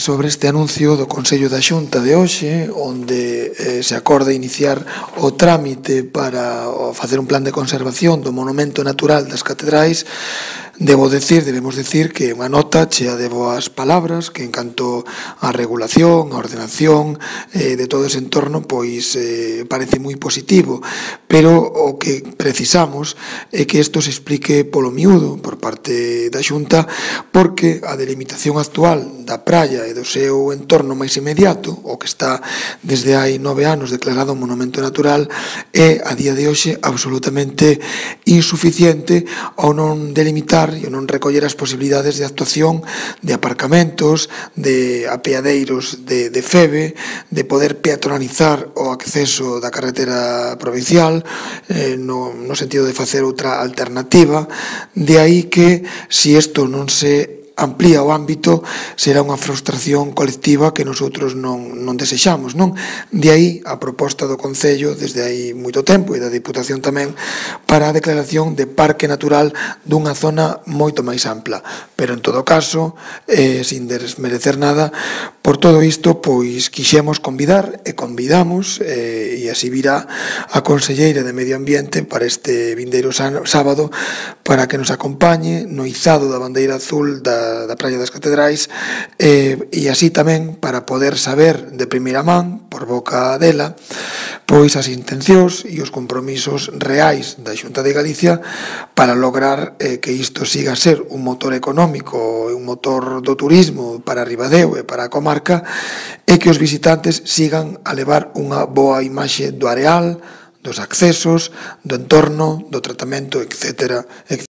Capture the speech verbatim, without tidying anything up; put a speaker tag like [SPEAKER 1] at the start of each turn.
[SPEAKER 1] sobre este anuncio do Consello da Xunta de hoxe, onde eh, se acorda iniciar o trámite para facer un plan de conservación do monumento natural das catedrais. Debo decir, debemos decir que é unha nota chea de boas palabras, que en canto á regulación, á ordenación eh, de todo ese entorno, pois eh, parece moi positivo, pero o que precisamos é que isto se explique polo miúdo por parte da Xunta, porque a delimitación actual da praia e do seu entorno máis inmediato, o que está desde hai nove anos declarado un monumento natural, é a día de hoxe absolutamente insuficiente ao non delimitar e non recoller as posibilidades de actuación de aparcamentos, de apeadeiros de, de FEBE, de poder peatonalizar o acceso da carretera provincial eh, no, no sentido de facer outra alternativa. De aí que, se isto non se amplía o ámbito, será unha frustración colectiva que nosotros non, non desexamos, non? De aí a proposta do Concello desde hai moito tempo e da Diputación tamén para a declaración de parque natural dunha zona moito máis ampla. Pero en todo caso, eh, sin desmerecer nada, por todo isto, pois quixemos convidar e convidamos, eh, e así virá a Conselleira de Medio Ambiente para este vindeiro sábado para que nos acompañe no izado da bandeira azul da da Praia das Catedrais eh, e así tamén para poder saber de primeira man, por boca dela, pois as intencións e os compromisos reais da Xunta de Galicia para lograr eh, que isto siga a ser un motor económico e un motor do turismo para Ribadeo e para a comarca, e que os visitantes sigan a levar unha boa imaxe do areal, dos accesos, do entorno, do tratamento, etcétera, etcétera.